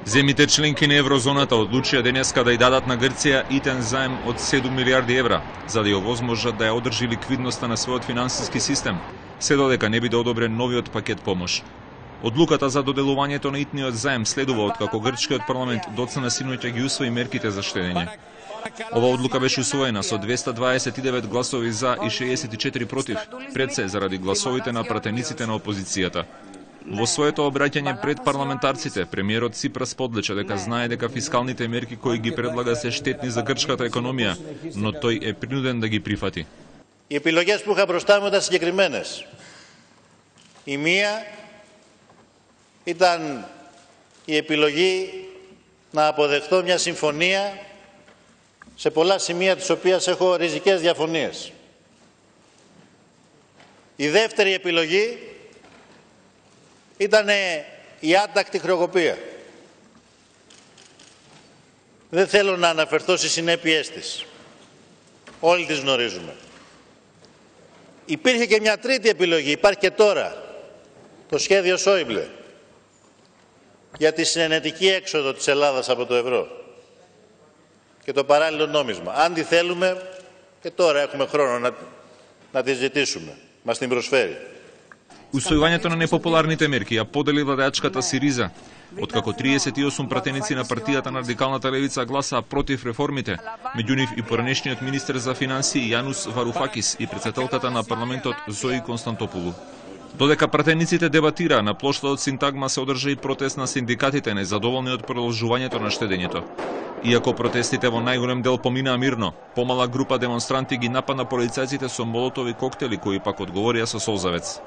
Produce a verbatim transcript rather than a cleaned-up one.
Земите членки на еврозоната одлучија денеска да ја дадат на Грција итен заем од седум милиарди евра, за да ја овозможат да ја одржи ликвидноста на својот финансиски систем, се додека не биде одобрен новиот пакет помош. Одлуката за доделувањето на итниот заем следува откако грчкиот парламент доцна синоќа ги усвои мерките за штедење. Ова одлука беше усвоена со двеста дваесет и девет гласови за и шеесет и четири против, пред се заради гласовите на пратениците на опозицијата. Во своето обраќање пред парламентарците, премиерот Ципрас подлече дека знае дека фискалните мерки кои ги предлага се штетни за грчката економија, но тој е принуден да ги прифати. Οι επιλογές που είχα μπροστά μου ήταν συγκεκριμένες. Η μία ήταν η επιλογή να αποδεχτώ μια συμφωνία σε πολλά σημεία της οποίας έχω ριζικές διαφωνίες. Η δεύτερη επιλογή ήταν η άτακτη χρεοκοπία. Δεν θέλω να αναφερθώ στις συνέπειές της. Όλοι τις γνωρίζουμε. Υπήρχε και μια τρίτη επιλογή, υπάρχει και τώρα, το σχέδιο Σόιμπλε για τη συνενετική έξοδο της Ελλάδας από το ευρώ και το παράλληλο νόμισμα. Αν τη θέλουμε, και τώρα έχουμε χρόνο να, να τη ζητήσουμε. Μας την προσφέρει. Усвојувањето на непопуларните мерки ја подели владеачката Сириза, откако триесет и осум пратеници на партијата на радикалната левица гласаа против реформите, меѓу нив и поранешниот министер за финансии Јанус Варуфакис и претседателката на парламентот Зои Константопулу. Додека пратениците дебатираа, на плоштадот Синтагма се одржа и протест на синдикатите незадоволни од продолжувањето на штедењето. Иако протестите во најголем дел поминаа мирно, помала група демонстранти ги нападна полицајците со молотови коктели кои пак одговорија со солзавец.